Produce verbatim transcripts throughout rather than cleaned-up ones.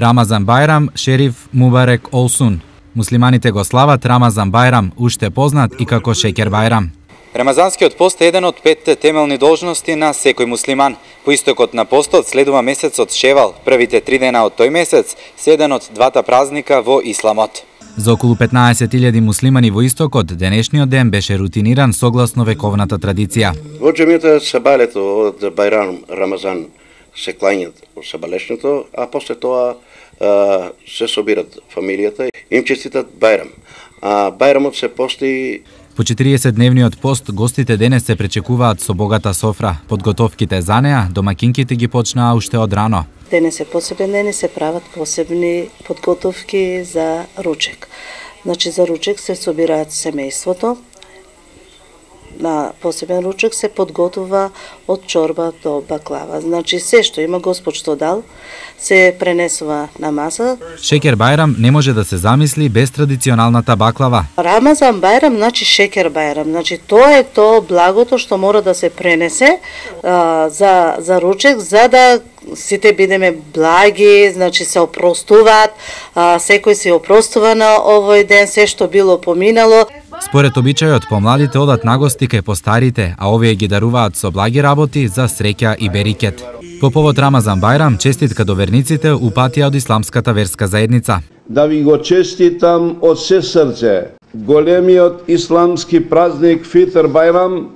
Рамазан Бајрам, Шериф Мубарек Олсун. Муслиманите го слават Рамазан Бајрам, уште познат и како Шекер Бајрам. Рамазанскиот пост е еден од петте темелни должности на секој муслиман. По истокот на постот следува месецот Шевал. Првите три дена од тој месец се еден од двата празника во исламот. За околу петнаесет илјади муслимани во истокот, денешниот ден беше рутиниран согласно вековната традиција. Во џемијата сабалето од Бајрам Рамазан се клањат во сабалешното, а после тоа а, се собират фамилијата и им честитат Бајрам. А Бајрамот се пости. По четириесетдневниот пост гостите денес се пречекуваат со богата софра. Подготовките за неа домакинките ги почнаа уште од рано. Денес е посебен ден и се прават посебни подготовки за ручек. Значи за ручек се собираат семејството. На посебен ручек се подготува од чорба до баклава. Значи се што има Господ што дал се пренесува на маса. Шекер Бајрам не може да се замисли без традиционалната баклава. Рамазан Бајрам значи Шекер Бајрам. Значи тоа е тоа благото што мора да се пренесе а, за за ручек, за да сите бидеме благи, значи се опростуваат, а, секој се опростува на овој ден, се што било поминало. Според обичајот, помладите одат на гости кај постарите, а овие ги даруваат со благи работи за среќа и берикет. По повод Рамазан Бајрам, честитка до верниците упатија од исламската верска заедница. Да ви го честитам од се срце големиот исламски празник Фитр Бајрам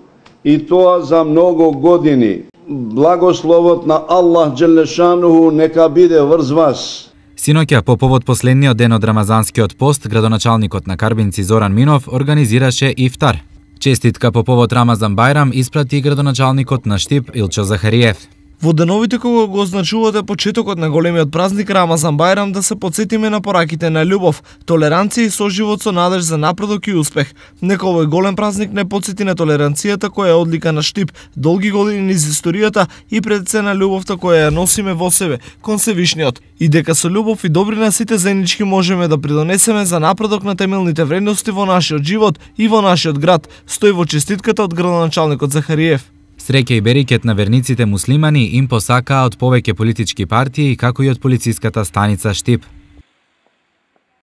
и тоа за многу години. Благословот на Аллах Джелешануху нека биде врз вас. Синоќа, по повод последниот ден од Рамазанскиот пост, градоначалникот на Карбинци Зоран Минов организираше ифтар. Честитка по повод Рамазан Бајрам испрати градоначалникот на Штип Илчо Захариев. Во деновите кога го означувате почетокот на големиот празник Рамазан Бајрам, да се потсетиме на пораките на љубов, толеранција и соживот со надеж за напредок и успех. Нека овој голем празник не потсети на толеранцијата која е одлика на Штип, долги години низ историјата и пред се на љубовта која ја носиме во себе, кон Севишниот. И дека со љубов и добрина сите заеднички можеме да придонесеме за напредок на темелните вредности во нашиот живот и во нашиот град, стои во честитката од градоначалникот Захариев. Среќа и берикет на верниците муслимани им посакаат од повеќе политички партии, како и од полициската станица Штип.